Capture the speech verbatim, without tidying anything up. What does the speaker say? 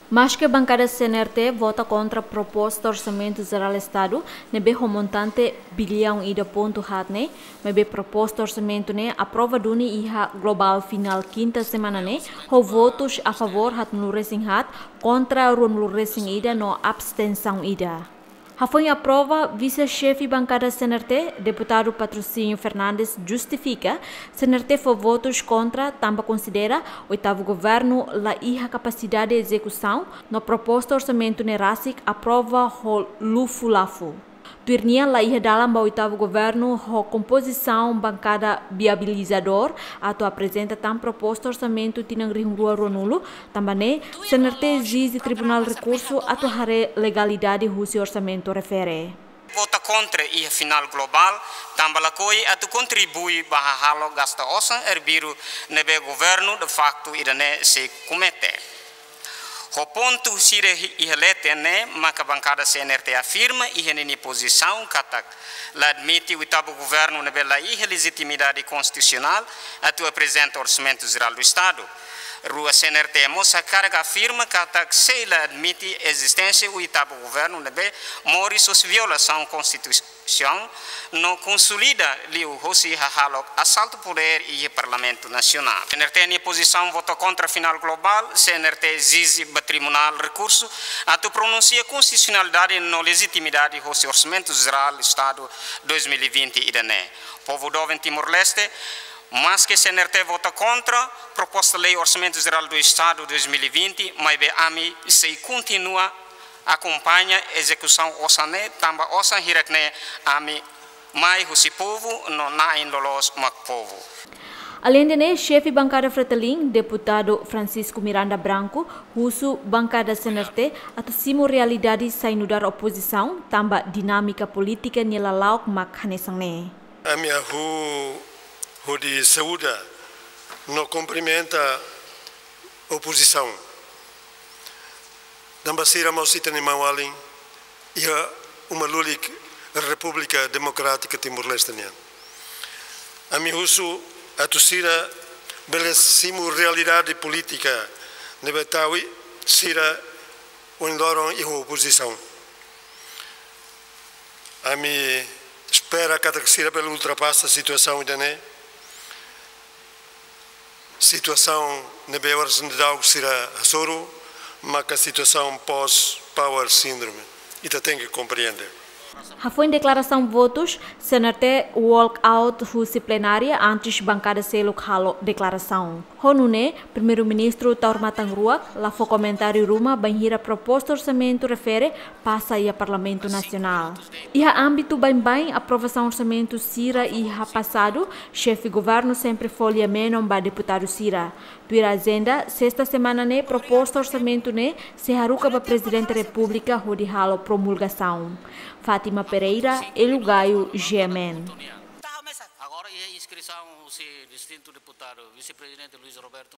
Maske bankada C N R T vota kontra proposta Orsamentu Jerál Estadu ne'ebé ho montante biliaun ida pontu haat ne'e, maibé proposta orsamentu ne'e aprova duni iha globál finál kinta semana ne'e, ho votus a favór haatnulu-resin-haat, kontra ruanulu-resin-ida no abstensaun ida. Hafoin aprova, Vise-Xefe Bankada C N R T, Deputadu Patrocínio Fernandes, justifika C N R T fó votus kontra tanba konsidera oitavu governu la iha kapasidade ezekusaun no proposta orsamentu ne'e rasik aprova ho lufu-lafu. Tuir nia, la iha dalan ba oitavu governu ho kompozisaun bankada viabilizadór atu aprezenta tan proposta orsamentu tinan rihun rua ruanulu, tanba ne'e C N R T ezije Tribunál Rekursu atu haree legalidade husi orsamentu refere. Vota kontra iha finál globál, tanba lakohi atu kontribui ba hahalok gasta osan erbiru ne'ebé governu de facto ida-ne'e sei komete. Ho pontu sira hi-, iha leten ne'e, maka bankada C N R T afirma iha ninia pozisaun katak la admite oitavu governu ne'ebé la iha lejitimidade konstitusionál atu aprezenta Orsamentu Jerál do Estadu. Rua, C N R T mós hakarak afirma katak sei la admite ezisténsia oitavu governu ne'ebé moris hosi violasaun konstitusionál no konsolida liu hosi hahalok asaltu podér iha Parlamentu Nasionál. C N R T nia pozisaun vota kontra finál globál, C N R T ezije ba Tribunál Rekursu atu pronunsia konstitusionalidade no lejitimidade hosi Orsamentu Jerál Estadu dois mil e vinte ida-ne'e. Povu doben Timor-Leste, maske C N R T vota kontra proposta lei Orsamentu Jerál do Estadu dois mil e vinte, maibé ami sei kontinua akompaña ezekusaun osan ne'e, tanba osan hirak ne'e ami mai husi povu no na'in loloos mak povu. Aleinde ne'e, Xefe Bankada Fretilin, Deputadu Francisco Miranda Branco, husu bankada C N R T atu simu realidade sai nu'udar opozisaun, tanba dinámika polítika nia lala'ok mak hanesan ne'e. Ami hahú hodi saúda no kumprimenta opozisaun. Tanba sira mós ita-nia maun-alin iha uma lulik Repúblika Demokrátika Timor-Leste nian. Ami husu atu sira bele simu realidade polítika ne'ebé tau sira ohin loron iha opozisaun. Ami espera katak sira bele ultrapasa situasaun ida-ne'e. Situasaun ne'ebé oras ne'e daudaun sira hasoru, maka situasaun post-power syndrome. Ita tenke komprende. Hafoin deklarasaun votus, C N R T walk out husi plenária antes bankada seluk halo deklarasaun. Ho nune'e, Primeiru-Ministru Taur Matan Ruak la fó komentáriu ruma bainhira proposta orsamentu refere pasa iha Parlamentu Nasionál. Iha ámbitu baibain aprovasaun orsamentu sira iha pasadu, Xefe Governu sempre fó lia-menon ba deputadu sira. Tuir ajenda, sesta semana ne'e proposta orsamentu ne'e sei haruka ba Prezidente Repúblika hodi halo promulgasaun. Fátima Pereira, Hélio Gaio, G M N. Agora iha inskrisaun husi distintu deputadu, Vise-Prezidente Luis Roberto.